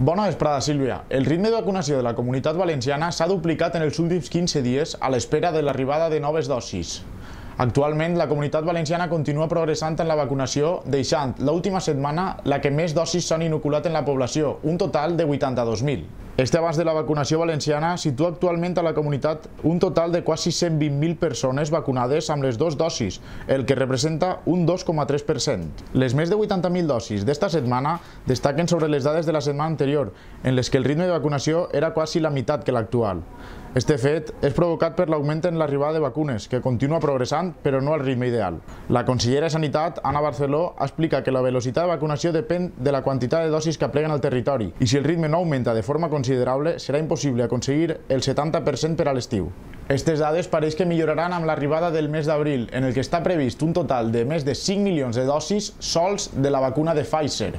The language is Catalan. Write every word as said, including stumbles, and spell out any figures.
Bona vesprada, Sílvia. El ritme de vacunació de la Comunitat Valenciana s'ha duplicat en els últims quinze dies a l'espera de l'arribada de noves dosis. Actualment, la Comunitat Valenciana continua progressant en la vacunació, deixant l'última setmana la que més dosis s'han inoculat en la població, un total de vuitanta-dos mil. Este avanç de la vacunació valenciana situa actualment a la comunitat un total de quasi cent vint mil persones vacunades amb les dues dosis, el que representa un dos coma tres per cent. Les més de vuitanta mil dosis d'esta setmana destaquen sobre les dades de la setmana anterior, en les que el ritme de vacunació era quasi la meitat que l'actual. Este fet és provocat per l'augment en l'arribada de vacunes, que continua progressant, però no al ritme ideal. La consellera de Sanitat, Anna Barceló, explica que la velocitat de vacunació depèn de la quantitat de dosis que apleguen al territori, i si el ritme no augmenta de forma considerable, serà impossible aconseguir el setanta per cent per a l'estiu. Aquestes dades pareix que milloraran amb l'arribada del mes d'abril, en el que està previst un total de més de cinc milions de dosis sols de la vacuna de Pfizer.